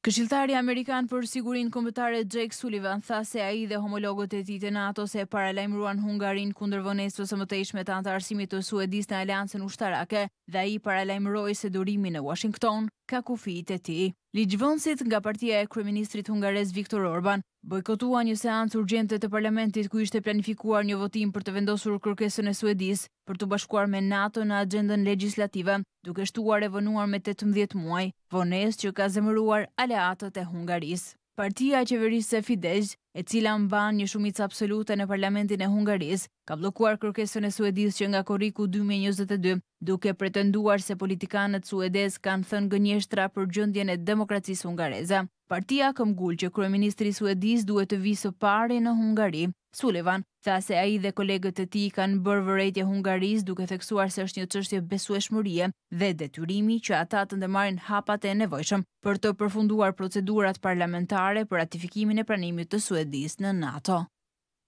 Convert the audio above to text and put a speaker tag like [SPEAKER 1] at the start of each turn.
[SPEAKER 1] Këshilltari amerikan për Sigurinë Kombëtare Jake Sullivan tha se ai dhe homologët e tij të NATO-s e paralajmëruan Hungarinë kundër vonesës së mëtejshme të anëtarësimit të Suedisë në aleancën ushtarake dhe ai paralajmëroi se durimi në Uashington ka kufijtë e tij. Ligjvënësit nga partia e kryeministrit hungarez Viktor Orban bojkotuan një seancë urgjente të parlamentit ku ishte planifikuar një votim për të vendosur kërkesën e Suedisë për t'u bashkuar me NATO në axhendën legjislative, duke shtuar e vonuar me 18 muaj, vonesë që ka zemëruar aleatët e Hungarisë. Partia qeverisëse Fidesz, e cila mban një shumicë absolute në parlamentin e Hungarisë, ka bllokuar kërkesën e Suedisë që nga korriku 2022, duke pretenduar se politikanët suedezë kanë thënë gënjeshtra për gjendjen e demokracisë hungareze. Partia këmbgul që kryeministri i Suedisë duhet të vijë së pari në Hungari. Sullivan tha se ai dhe kolegët e tij kanë bërë vërejtje Hungarisë duke theksuar se është një çështje besueshmërie dhe detyrimi që ata të ndërmarrin hapat e nevojshëm për të përfunduar procedurat parlamentare për ratifikimin e pranimit të Suedisë në NATO.